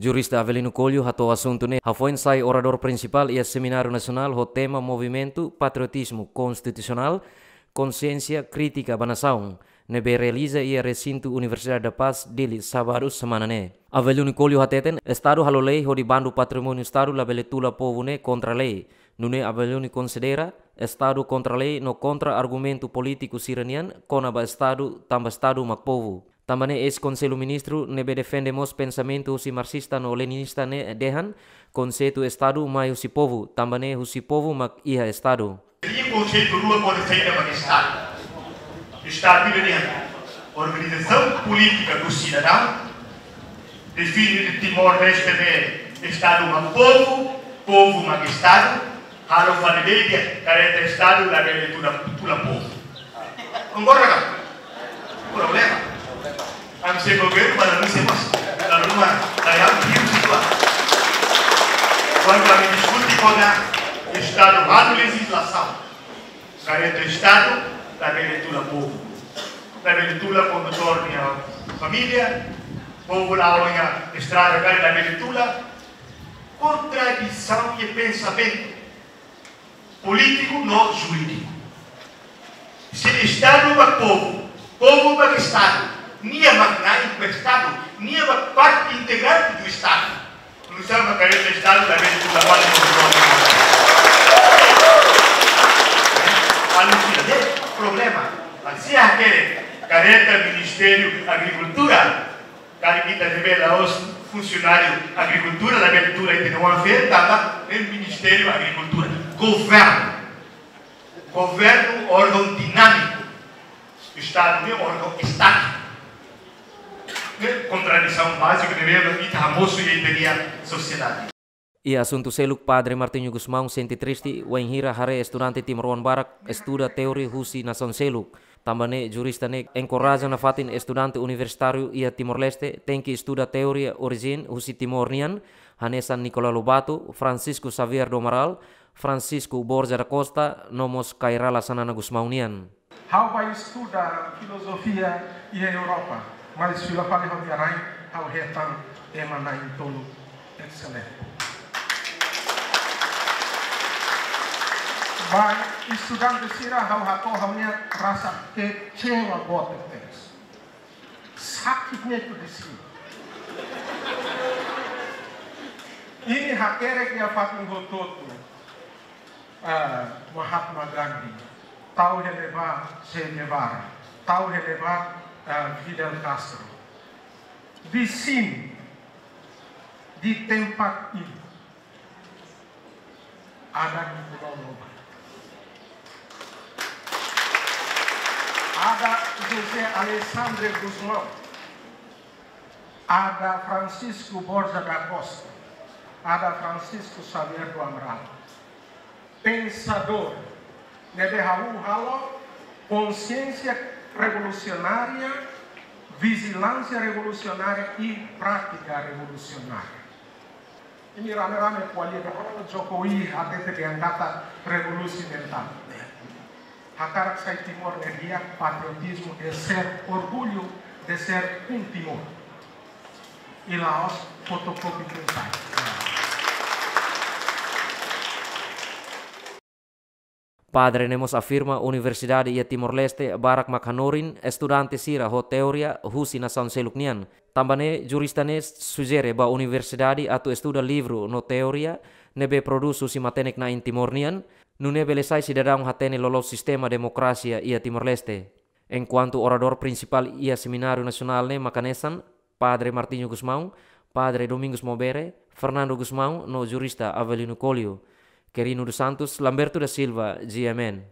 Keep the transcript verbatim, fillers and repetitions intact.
Jurista Avelino Coelho hato'o asuntu ne'e hafoin sai oradór prinsipál iha semináriu nasionál ho tema Movimentu Patriotizmu Konstitusionál, Konsiénsia Krítika ba Nasaun, ne'ebé realiza iha resintu Universidade da Paz, Dili, sábadu semana ne'e. Avelino Coelho hateten, Estadu halo lei hodi bandu patrimóniu Estadu labele tula povu ne'e kontra lei. Nune'e Avelino konsidera, Estadu kontra lei no kontra argumentu polítiku sira-nian kona-ba Estadu, tanba Estadu mak povu. Tanba ne'e eis-Konsellu Ministru ne'ebé defende mós pensamentu husi marxista no leninista ne'e dehan, konseitu Estadu mai husi povu, tanba ne'e husi povu mak iha Estadu. Iha konseitu rua kona-ba Estadu. Estadu ida-ne'e organizasaun polítika do sidadaun, define Timor-Leste ne'e Estadu mak povu, povu mak Estadu, halo fali média, kareta Estadu labele tula, tula povu. Konkorda ka? Problema. Ami sei governu, mas ami sei mas. Lalu rumah, saya hidup situa. Kuandu ami diskute kona-ba Estadu halo lejizlasaun, kareta Estadu labele tula povu. Labele tula kondutór nia família, povu la'o iha estrada, kari labele tula. Kontradisaun iha pensamentu polítiku no jurídiku. Se Estadu ba povu, povu ba Estadu, nia mak na'in ba Estadu, nia mak parte integrante do Estadu. Nu'usá mak kareta Estadu labele tula fali kondutór. Anu sira de problema. Mas se hakerek kareta Ministériu Agrikultura, kari ita revela os funsionáriu agrikultura, labele tula ita no afeta ba, ne'e Ministériu Agrikultura. Governu. Governu órgaun dinámiku. Estadu ne'e órgaun estátiku. Ne'e kontradisaun báziku ne'ebé ita hamosu iha ita-nia sosiedade. Iha asuntu seluk, Padre Martinho Gusmão sente triste wainhira haree estudante timoroan barak estuda teoria husi nasaun seluk. Tanba ne'e jurista ne'e enkoraja nafatin estudante universitáriu iha Timor-Leste tenke estuda teoria orijen husi Timor nian, hanesan Nicolau Lobato, Francisco Xavier do Amaral, Francisco Borja da Costa, no mós Kay Rala Xanana Gusmão nian. Ha'u bá estuda filozofia iha Europa, mas fila fali ha'u-nia rain, ha'u hetan ema na'in-tolu excelente. Ba estudante sira, ha'u hato'o ha'u-nia rasa kecewa boot tebes. Sakit ne'e tu di sini. Imi hakerek iha fatin hotu-hotu. Ah, Mahatma Gandhi, tau hela ba Che Guevara, tau hela ba, ah, Fidel Castro. Di sini, di tempat ini, ada Nicolau Lobato. Ada José Alexandre Gusmão. Ada Francisco Borja da Costa. Ada Francisco Xavier do Amaral. Pensadór ne'ebé halo konsiénsia revolusionária, vijilánsia revolusionária i prátika revolusionária. Imi rame-rame ko'alia, Jokowi hatete dehan katak revolusi mentál. Hakarak sai Timor ne'e di'ak, patriotizmu é ser orgulho de ser um Timor. I la'ós fotokopi tun sai. Padre ne'e mós afirma universidade iha Timor-Leste barak mak hanorin estudante sira ho teoria husi nasaun seluk nian. Tanba ne'e jurista ne'e sujere ba universidade atu estuda livru no teoria ne'ebé prodús husi matenek-na'in Timor nian, nune'e bele sai sidadaun hatene loloos sistema demokrasia iha Timor-Leste. Enkuantu oradór prinsipál iha semináriu nasionál ne'e mak hanesan Padre Martinho Gusmão, Padre Domingos Mobere, Fernando Gusmão no jurista Avelino Coelho. Quirino dos Santos, Lamberto da Silva, G M N.